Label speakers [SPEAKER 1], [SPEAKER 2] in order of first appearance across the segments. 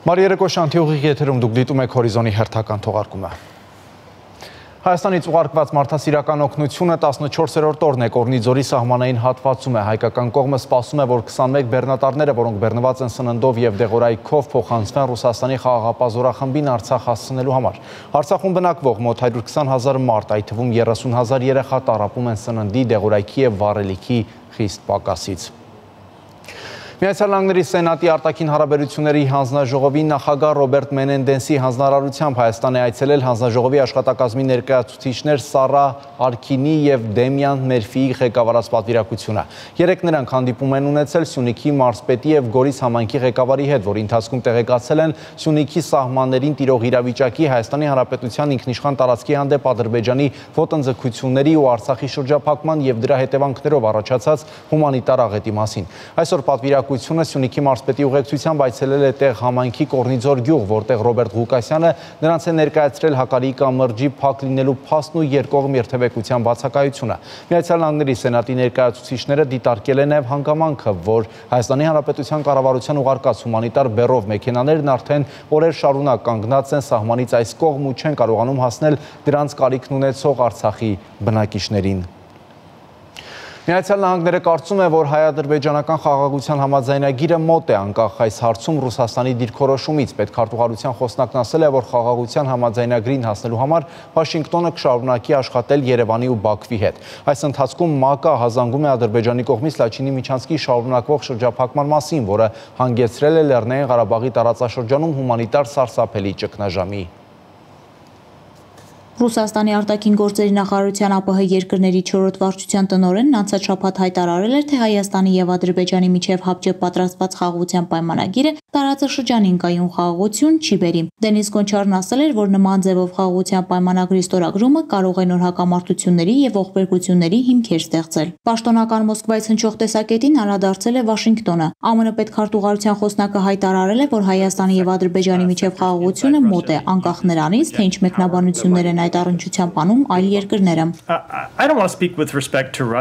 [SPEAKER 1] Մարիերեկո շանթիուղի եթերում դուք դիտում եք հորիզոնի հերթական թողարկումը։ Հայաստանից ուղարկված մարդասիրական օգնությունը 14-րդ օրն է Կորնիձորի սահմանային հատվածում է։ Հայկական կողմը սպասում է, որ 21 բեռնատարները, որոնք բեռնված են սննդով եւ դեղորայքով, փոխանցվեն Ռուսաստանի խաղաղապահ զորախմբին Արցախ հասցնելու համար։ Արցախում բնակվող մոտ 120,000 մարդ, այդ թվում 30,000 երեխա տառապում են սննդի, դեղորայքի եւ վառելիքի խիստ պակասից։ Միացյալ Նահանգների Սենատի արտաքին հարաբերությունների հանձնաժողովի նախագահ Ռոբերտ Մենենդեսի հանձնարարությամբ Հայաստան է այցելել հանձնաժողովի աշխատակազմի ներկայացուցիչներ Սառա Արքինի եւ Դեմյան Մերֆիի ղեկավարած պատվիրակությունը։ Երեք նրանք հանդիպում են ունեցել Սյունիքի մարզպետի եւ Գորիս համայնքի ղեկավարի հետ, որի ընթացքում տեղեկացել են Սյունիքի սահմաններին տիրող իրավիճակի, Հայաստանի Հանրապետության ինքնիշխան տարածքի հանդեպ Ադրբեջանի ոտնձգությունների ու Արցախի շրջափակման եւ դրա հետևանքներով առաջացած հումանիտար աղետի մասին։ Այսօր պատվիրակությունը Սյունիքի մարզպետի ուղեկցությամբ այցելել է տեղ համայնքի Կորնիձոր գյուղ, որտեղ Ռոբերտ Ղուկասյանը նրանց է ներկայացրել Հակարիի կամրջի փակ լինելու փաստն ու երկկողմ երթևեկության բացակայությունը։ Միացյալ Նահանգների Սենատի ներկայացուցիչները դիտարկել են նաև հանգամանքը, որ Հայաստանի Հանրապետության կառավարության ուղարկած հումանիտար բեռով մեքենաներն արդեն օրեր շարունակ կանգնած են սահմանից այս կողմ ու չեն կարողանում հասնել դրանց կարիքն ունեցող Արցախի բնակիչներին։ Միացյալ Նահանգները կարծում է, որ հայ-ադրբեջանական խաղաղության համաձայնագիրը մոտ է անկախ այս հարցում Ռուսաստանի դիրքորոշումից։ Պետքարտուղարության խոսնակն ասել է, որ խաղաղության համաձայնագրին հասնելու համար Վաշինգտոնը կշարունակի աշխատել Երևանի ու Բաքվի հետ։ Այս ընթացքում ՄԱԿ-ը հազանգում է Ադրբեջանի կողմից Լաչինի Միչանսկի շարունակվող շրջափակման մասին, որը հանգեցրել է Լեռնային Ղարաբաղի տարածաշրջանում հումանիտար սարսափելի ճգնաժամի։
[SPEAKER 2] Ռուսաստանի արտաքին գործերի նախարարության ԱՊՀ երկրների 4-րդ վարչության տնօրենն անցած շաբաթ հայտարարել էր, թե Հայաստանի եւ Ադրբեջանի միջև հապճեպ պատրաստված խաղաղության պայմանագիրը տարածաշրջանին կայուն խաղաղություն չի բերի։ Դենիս Գոնչարն ասել էր, որ նման ձևով խաղաղության պայմանագրի ստորագրումը կարող է նոր հակամարտությունների եւ ողբերգությունների հիմքեր ստեղծել։ Պաշտոնական Մոսկվայից հնչող տեսակետին անդրադարձել է Վաշինգտոնը։ ԱՄՆ պետքարտուղարության խոսնակը հայտարարել է, որ Հայաստանի եւ Ադրբեջանի միջև խաղաղությունը մոտ է, անկախ նրանից, թե ինչ մեկնաբանություններ են այդ առնչությամբ անում այլ երկրները։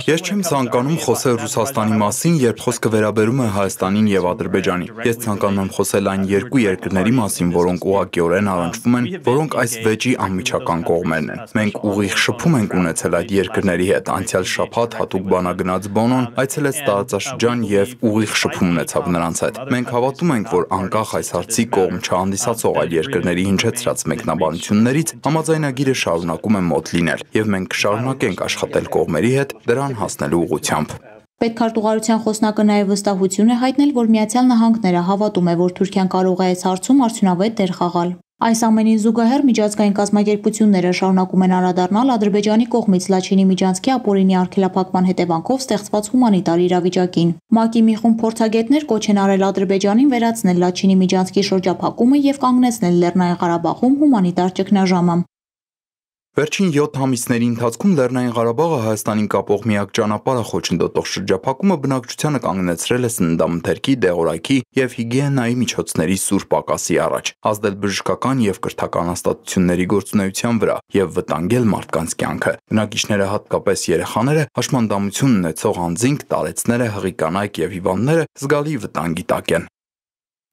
[SPEAKER 3] Ես չեմ ցանկանում խոսել Ռուսաստանի մասին, երբ խոսքը վերաբերում է Հայաստանին եւ Ադրբեջանին։ Ես ցանկանում եմ խոսել այն երկու երկրների մասին, որոնք ուղղակիորեն առնչվում են, որոնք այս վեճի անմիջական կողմերն են։ Մենք ուղիղ շփում ենք ունեցել այդ երկրների հետ։ Անցյալ շաբաթ հատուկ բանագնաց Բոնոն այցելեց տարածաշրջան եւ ուղիղ շփում ունեցավ նրանց հետ։ Մենք հավատում ենք, որ անկախ այս հարցի կողմ չհանդիսացող այլ երկրների հնչեցրած մեկնաբանություններից համաձայնագիրը շարունակում է մոտ լինել եւ մենք կշարունակենք աշխատել կողմերի հետ դրան հասնելու ուղղությամբ։
[SPEAKER 2] Պետքարտուղարության խոսնակը նաև վստահություն է հայտնել, որ Միացյալ Նահանգները հավատում է, որ Թուրքիան կարող է այս հարցում արդյունավետ դեր խաղալ։ Այս ամենին զուգահեռ միջազգային կազմակերպությունները շարունակում են անդրադառնալ Ադրբեջանի կողմից Լաչինի Միջանցքի ապօրինի արգելափակման հետևանքով ստեղծված հումանիտար իրավիճակին։ ՄԱԿ-ի մի խումբ փորձագետներ կոչ են արել Ադրբեջանին վերացնել Լաչինի Միջանցքի շրջափակումը եւ կանգնեցնել Լեռնային Ղարաբաղում հումանիտար ճգնաժամը։
[SPEAKER 3] Վերջին 7 ամիսների ընթացքում Լեռնային Ղարաբաղը Հայաստանին կապող միակ ճանապարհը խոչընդոտող շրջափակումը բնակչությանը կանգնեցրել է սննդամթերքի, դեղորայքի եւ հիգիենայի միջոցների սուր պակասի առաջ, ազդել բժշկական եւ կրթական հաստատությունների գործունեության վրա եւ վտանգել մարդկանց կյանքը։ Բնակիչները, հատկապես երեխաները, հաշմանդամություն ունեցող անձինք, տարեցները, հղի կանայք եւ հիվանդները զգալի վտանգի տակ են։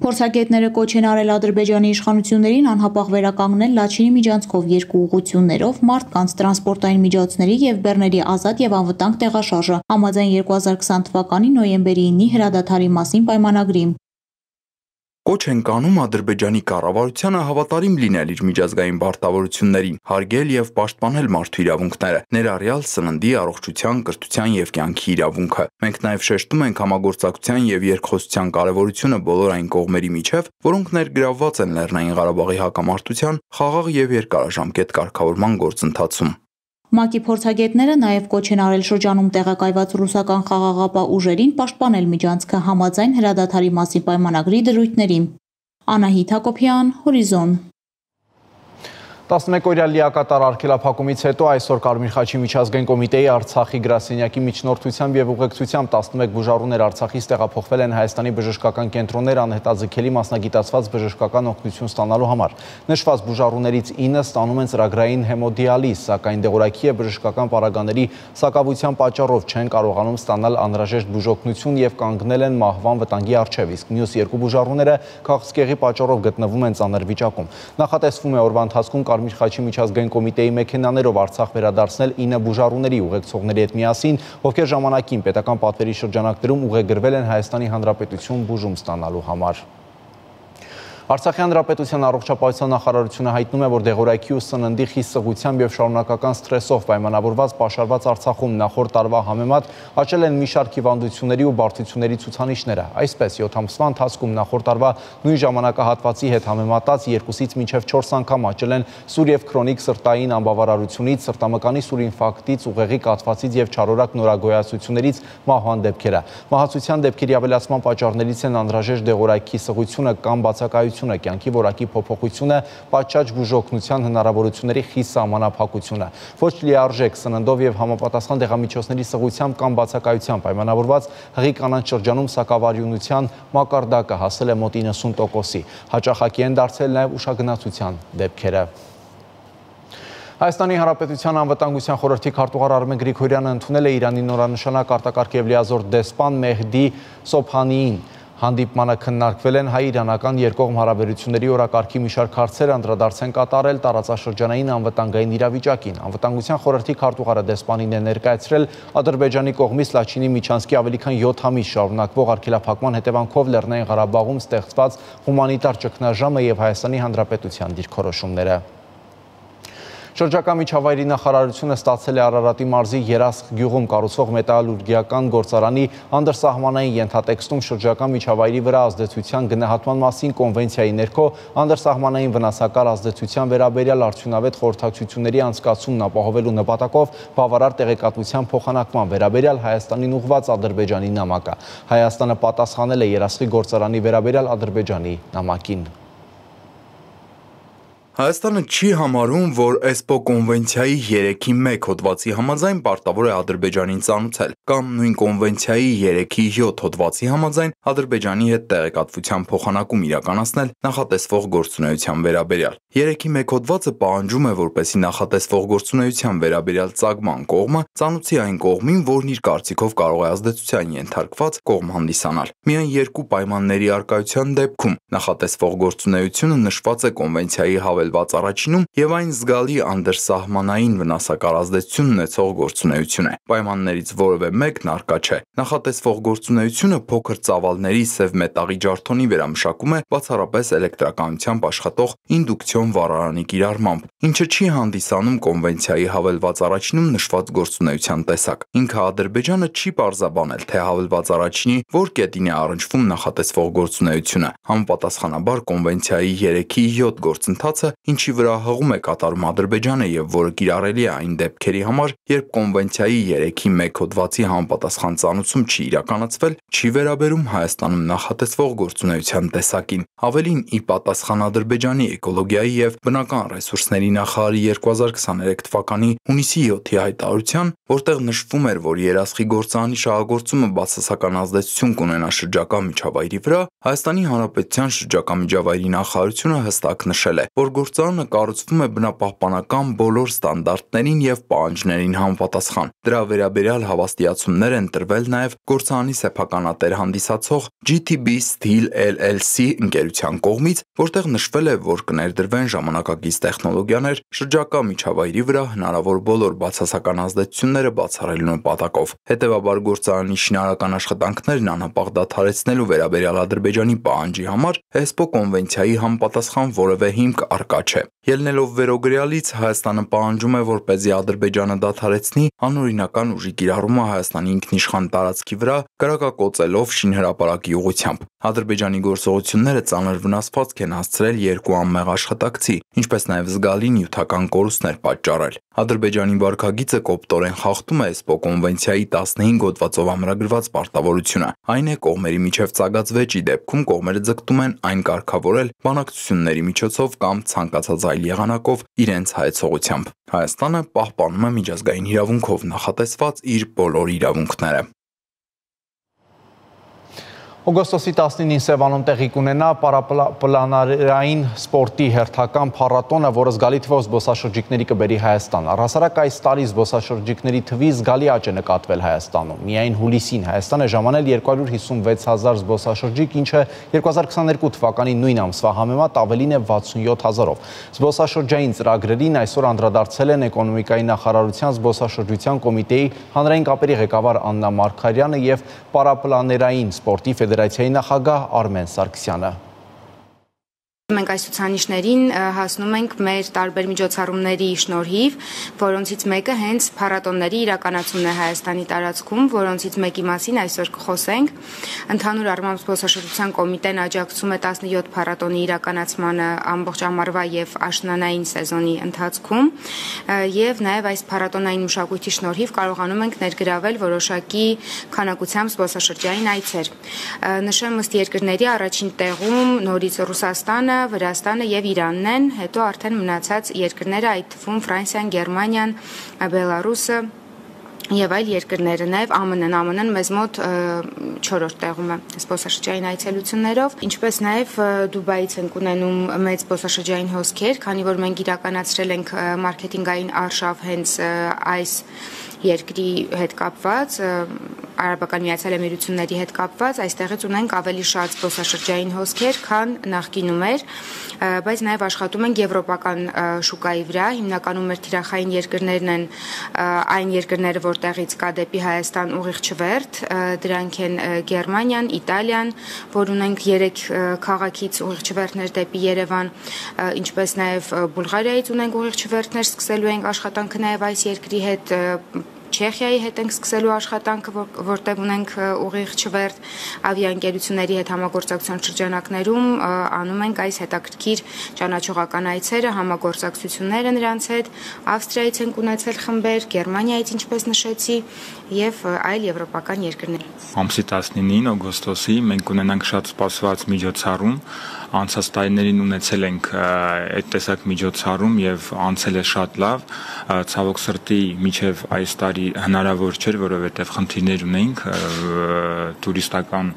[SPEAKER 2] Փորձագետները կոչ են արել Ադրբեջանի իշխանություններին անհապաղ վերականգնել Լաչինի Միջանցքով երկու ուղղություններով մարդկանց, տրանսպորտային միջոցների եւ բեռների ազատ եւ անվտանգ տեղաշարժը համաձայն 2020 թվականի նոյեմբերի 9-ի հրադադարի մասին պայմանագրի։
[SPEAKER 3] Կոչ են կանում Ադրբեջանի կառավարությանը հավատարիմ լինել իր միջազգային պարտավորություններին, հարգել եւ պաշտպանել մարդու իրավունքները, ներառյալ սննդի, առողջության, կրթության եւ կյանքի իրավունքը։ Մենք նաեւ շեշտում ենք համագործակցության եւ երկխոսության կարեւորությունը բոլոր այն կողմերի միջև, որոնք ներգրավված են Լեռնային Ղարաբաղի հակամարտության խաղաղ եւ երկարաժամկետ կարգավորման գործընթացում։
[SPEAKER 2] ՄԱԿ-ի փորձագետները նաև կոչ են արել շրջանում տեղակայված ռուսական խաղաղապահ ուժերին պաշտպանել Միջանցքը համաձայն հրադադարի մասին պայմանագրի դրույթների։ Անահիտ Հակոբյան, Հորիզոն։
[SPEAKER 1] 11-օրյա լիակատար արգելափակումից հետո այսօր Կարմիր խաչի միջազգային կոմիտեի Արցախի գրասենյակի միջնորդությամբ եւ ուղեկցությամբ 11 բուժառուներ Արցախից տեղափոխվել են Հայաստանի բժշկական կենտրոններ անհետաձգելի մասնագիտացված բժշկական օգնություն ստանալու համար։ Նշված բուժառուներից 9 ստանում են ծրագրային հեմոդիալիզ, սակայն դեղորայքի եւ բժշկական պարագաների սակավության պատճառով չեն կարողանում ստանալ անհրաժեշտ բուժօգնություն եւ կանգնել են մահվան վտանգի առջեւ, իսկ մյուս 2 բուժառուները քաղցկեղի պատճառով գտնվում են ծանր վիճակում։ Նախատեսվում է օրվա ընթացքում Կարմիր խաչի միջազգային կոմիտեի մեքենաներով Արցախ վերադարձնել 9 բուժառուների ուղեկցողների հետ միասին, ովքեր ժամանակին պետական պատվերի շրջանակներում ուղեգրվել են Հայաստանի Հանրապետություն բուժում ստանալու համար։ Արցախի Հանրապետության առողջապահության նախարարությունը հայտնում է, որ դեղորայքի ու սննդի խիստ սղությամբ եւ շարունակական սթրեսով պայմանավորված պաշարված Արցախում նախորդ տարվա համեմատ աճել են մի շարք հիվանդությունների ու բարդությունների ցուցանիշները։ Այսպես 7 ամսվա ընթացքում նախորդ տարվա նույն ժամանակահատվածի հետ համեմատած 2-ից մինչև 4 անգամ աճել են սուր եւ քրոնիկ սրտային անբավարարությունից, սրտամկանի սուր ինֆարկտից, ուղեղի կաթվածից եւ չարորակ նորագոյացություններից մահվան դեպքերը։ Մահացության դեպքերի ավելացման պատճառներից են անհրաժեշտ դեղորայքի սղությունը կամ բացակայությունը, կյանքի որակի փոփոխությունը, պատշաճ բուժօգնության հնարավորությունների խիստ սահմանափակությունը, ոչ լիարժեք սննդով եւ համապատասխան դեղամիջոցների սղությամբ կամ բացակայությամբ պայմանավորված հղի կանանց շրջանում սակավարյունության մակարդակը հասել է մոտ 90%-ի։ Հաճախակի են դարձել նաեւ ուշագնացության դեպքերը։ Հայաստանի Հանրապետության անվտանգության խորհրդի քարտուղար Արմեն Գրիգորյանը ընդունել է Իրանի նորանշանակ արտակարգ եւ լիազոր դեսպան Մեհդի Սոբհանիին։ Հանդիպմանը քննարկվել են հայ-իրանական երկկողմ հարաբերությունների օրակարգի մի շարք հարցեր, անդրադարձ են կատարել տարածաշրջանային անվտանգային իրավիճակին։ Անվտանգության խորհրդի քարտուղարը դեսպանին է ներկայացրել Ադրբեջանի կողմից Լաչինի միջանցքի ավելի քան 7 ամիս շարունակվող արգելափակման հետևանքով Լեռնային Ղարաբաղում ստեղծված հումանիտար ճգնաժամը եւ Հայաստանի Հանրապետության դիրքորոշումները։ Շրջակա միջավայրի նախարարությունը ստացել է Արարատի մարզի Երասխ գյուղում կառուցվող մետալուրգիական գործարանի անդրսահմանային ենթատեքստում շրջակա միջավայրի վրա ազդեցության գնահատման մասին կոնվենցիայի ներքո անդրսահմանային վնասակար ազդեցության վերաբերյալ արդյունավետ խորհրդակցությունների անցկացումն ապահովելու նպատակով բավարար տեղեկատվության փոխանակման վերաբերյալ Հայաստանին ուղղված Ադրբեջանի նամակը։ Հայաստանը պատասխանել է Երասխի գործարանի վերաբերյալ Ադրբեջանի նամակին։
[SPEAKER 3] Հայաստանը չի համարում, որ ESPO կոնվենցիայի 3-ի 1 հոդվածի համաձայն պարտավոր է Ադրբեջանին ծանուցել, կամ նույն կոնվենցիայի 3-ի 7 հոդվածի համաձայն Ադրբեջանի հետ տեղեկատվության փոխանակում իրականացնել նախատեսվող գործունեության վերաբերյալ։ 3-ի 1 հոդվածը պահանջում է, որպեսզի նախատեսվող գործունեության վերաբերյալ ծագման կողմը ծանուցի այն կողմին, որն իր կարծիքով կարող է ազդեցության ենթարկված կողմ հանդիսանալ։ Միայն 2 պայմանների առկայության դեպքում նախատեսվող գործունեությունը նշված է կոնվենցիայի հավելված առաջինում եւ այն զգալի անդրսահմանային վնասակար ազդեցություն ունեցող գործունեություն է։ Պայմաններից որևէ մեկն առկա չէ։ Նախատեսվող գործունեությունը փոքր ծավալների սև մետաղի ջարդոնի վերամշակում է բացառապես էլեկտրականությամբ աշխատող ինդուկցիոն վառարանի կիրառմամբ, ինչը չի հանդիսանում կոնվենցիայի հավելված առաջինում նշված գործունեության տեսակ։ Ինքը Ադրբեջանը չի պարզաբանել, թե հավելված առաջինի որ կետին է առնչվում նախատեսվող գործունեությունը։ Համապատասխանաբար կոնվենցիայի 3-ի 7 գործընթացը, ինչի վրա հղում է կատարում Ադրբեջանը եւ որը կիրառելի է այն դեպքերի համար, երբ կոնվենցիայի 3-ի 1 հոդվածի համապատասխան ծանուցում չի իրականացվել, չի վերաբերում Հայաստանում նախատեսվող գործունեության տեսակին։ Ավելին, ի պատասխան Ադրբեջանի էկոլոգիայի եւ բնական ռեսուրսների նախարարի 2023 թվականի հունիսի 7-ի հայտարարության, որտեղ նշվում էր, որ Երասխի գործարանի շահագործումը բացասական ազդեցություն կունենա շրջակա միջավայրի վրա, Հայաստանի Հանրապետության շրջակա միջավայրի նախարարությունը հստակ նշել է, որ գործարանը կառուցվում է բնապահպանական բոլոր ստանդարտներին եւ պահանջներին համապատասխան։ Դրա վերաբերյալ հավաստիացումներ են տրվել նաեւ գործարանի սեփականատեր հանդիսացող GTB Steel LLC ընկերության կողմից, որտեղ նշվել է, որ կներդրվեն ժամանակակից տեխնոլոգիաներ շրջակա միջավայրի վրա հնարավոր բոլոր բացասական ազդեցությունները բացառելու նպատակով։ Հետևաբար գործարանի շինարարական աշխատանքներն անհապաղ դադարեցնելու վերաբերյալ Ադրբեջանի պահանջի համար ESPO կոնվենցիայի համապատասխան որևէ հիմք առկա չէ։ Ելնելով վերոգրյալից, Հայաստանը պահանջում է, որպեսզի Ադրբեջանը դադարեցնի անօրինական ուժի կիրառումը Հայաստանի ինքնիշխան տարածքի վրա կրակակոծելով շինհրապարակի ուղղությամբ։ Ադրբեջանի գործողությունները ծանր վնասվածք են հասցրել 2 անմեղ աշխատակցի, ինչպես նաև զգալի նյութական կորուստներ պատճառել։ Ադրբեջանի վարքագիծը կոպտորեն խախտում է ESPO կոնվենցիայի 15 հոդվածով ամրագրված պարտավորությունը։ Այն է կողմերի միջև ծագած վեճի դեպքում կողմերը ձգտում են այն կարգավորել բանակցությունների միջոցով կամ ցանկացած այլ եղանակով իրենց հայեցողությամբ։ Հայաստանը պահպանում է միջազգային իրավունքով նախատեսված իր բոլոր իրավունքները։
[SPEAKER 1] Օգոստոսի 19-ին Սևանում տեղի կունենա պարապլանարային սպորտի հերթական փառատոնը, որը զգալի թվով զբոսաշրջիկների կբերի Հայաստան։ Առհասարակ այս տարի զբոսաշրջիկների թվի զգալի աճ է նկատվել Հայաստանում։ Միայն հուլիսին Հայաստան է ժամանել 256,000 զբոսաշրջիկ, ինչը 2022 թվականի նույն ամսվա համեմատ ավելին է 67,000-ով։ Զբոսաշրջային ծրագրերին այսօր անդրադարձել են Էկոնոմիկայի նախարարության զբոսաշրջության կոմիտեի հանրային կապերի ղեկավար Աննա Մարգարյանը եւ պարապլաներային սպորտի ֆեդերացիայի նախագահ Արմեն Սարգսյանը։
[SPEAKER 4] Մենք այս ցուցանիշներին հասնում ենք մեր տարբեր միջոցառումների շնորհիվ, որոնցից մեկը հենց փառատոնների իրականացումն է Հայաստանի տարածքում, որոնցից մեկի մասին այսօր կխոսենք։ Ընդհանուր առմամբ զբոսաշրջության կոմիտեն աջակցում է 17 փառատոնի իրականացմանը ամբողջ ամառվա եւ աշնանային սեզոնի ընթացքում, եւ նաեւ այս փառատոնային մշակույթի շնորհիվ կարողանում ենք ներգրավել որոշակի քանակությամբ զբոսաշրջային այցեր։ Նշեմ ըստ երկրների առաջին տեղում նորից Ռուսաստանը, Վրաստանը եւ Իրանն են, հետո արդեն մնացած երկրները, այդ թվում Ֆրանսիան, Գերմանիան, Բելարուսը եւ այլ երկրները, նաեւ ԱՄՆ-ն մեզ մոտ 4-րդ տեղում է զբոսաշրջային այցելություններով, ինչպես նաեւ Դուբայից ենք ունենում մեծ զբոսաշրջային հոսքեր, քանի որ մենք իրականացրել ենք մարքեթինգային արշավ հենց այս երկրի հետ կապված, Արաբական Միացյալ Էմիրությունների հետ կապված, այստեղից ունենք ավելի շատ զբոսաշրջային հոսքեր, քան նախկինում էր, բայց նաև աշխատում ենք եվրոպական շուկայի վրա, հիմնականում մեր թիրախային երկրներն են այն երկրները, որտեղից կա դեպի Հայաստան ուղիղ չվերթ, դրանք են Գերմանիան, Իտալիան, որ ունենք 3 քաղաքից ուղիղ չվերթներ դեպի Երևան, ինչպես նաև Բուլղարիայից ունենք ուղիղ չվերթներ, սկսելու ենք աշխատանքը նաև այս երկրի հետ, Չեխիայի հետ ենք սկսելու աշխատանքը, որտեղ ունենք ուղիղ չվերթ, ավիաընկերությունների հետ համագործակցության շրջանակներում անում ենք այս հետաքրքիր ճանաչողական այցերը, համագործակցությունները նրանց հետ, Ավստրիայից ենք ունեցել խմբեր, Գերմանիայից ինչպես նշեցի, եւ այլ եվրոպական երկրներ։
[SPEAKER 5] Ամսի 19-ին օգոստոսի մենք ունենանք շատ սպասված միջոցառում, անցած տարիներին ունեցել ենք այդ տեսակ միջոցառում եւ անցել է շատ լավ, ցավոք սրտի միջև այս տարի հնարավոր չէր, որովհետեւ խնդիրներ ունենք, տուրիստական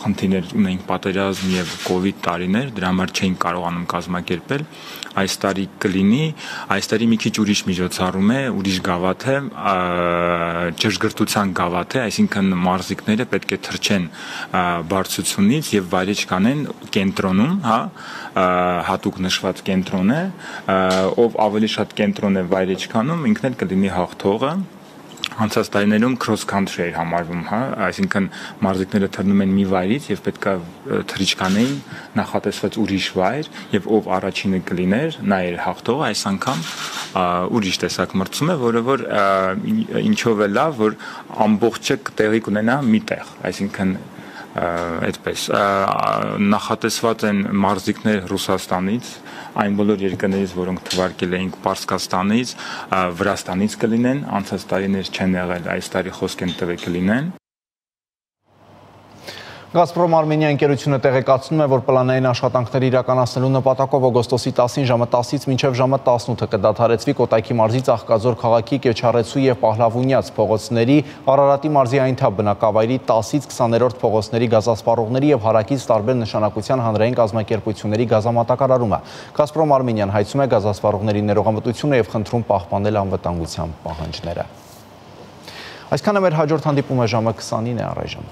[SPEAKER 5] խնդիրներ ունենք, պատերազմ եւ կոവിഡ് տարիներ, դրա համար չէինք կարողանում կազմակերպել։ Այս տարի կլինի, այս տարի մի քիչ ուրիշ միջոցառում է, ուրիշ գավաթ է, ճշգրտության գավաթ է, այսինքն մարզիկները պետք է թռչեն բարձրությունից եւ վայրեջ կանեն կենտրոնում, հա, հատուկ նշված կենտրոն է, ով ավելի շատ կենտրոն է վայրեջ կանում, ինքն էլ կլինի հաղթողը։ Անցած տարիներում cross country էր համարվում, հա, այսինքն մարզիկները թռնում են մի վայրից եւ պետքա թռիչքանեին նախատեսված ուրիշ վայր եւ ով առաջինը կլիներ, նա էր հաղթողը, այս անգամ ուրիշ տեսակ մրցում է, որը որ ինչով է լավ, որ ամբողջը տեղի կունենա մի տեղ, այսինքն այդպես նախատեսված են մարզիկներ Ռուսաստանից, այն բոլոր երկրներից, որոնք թվարկել էինք Պարսկաստանից, Վրաստանից կլինեն, անցած տարիներ չեն եղել, այս տարի խոսք են տվել կլինեն։
[SPEAKER 1] Գազպրոմ Արմենիա ընկերությունը տեղեկացնում է, որ պլանային աշխատանքների իրականացնելու նպատակով օգոստոսի 10-ին ժամը 10-ից մինչև ժամը 18-ը կդադարեցվի Կոտայքի մարզի Ծաղկաձոր քաղաքի Կեչարեցու եւ Պահլավունյաց փողոցների, Արարատի մարզի Այնթափ բնակավայրի 10-ից 20-րդ փողոցների գազասպառողների եւ հարակից տարբեր նշանակության հանրային կազմակերպությունների գազամատակարարումը։ Գազպրոմ Արմենիան հայցում է գազասպառողների ներողամտությունը եւ խնդրում պահպանել անվտանգության պահանջները։ Այսքանը մեր հաջորդ հանդիպումը ժամը 20-ին է առայժմ։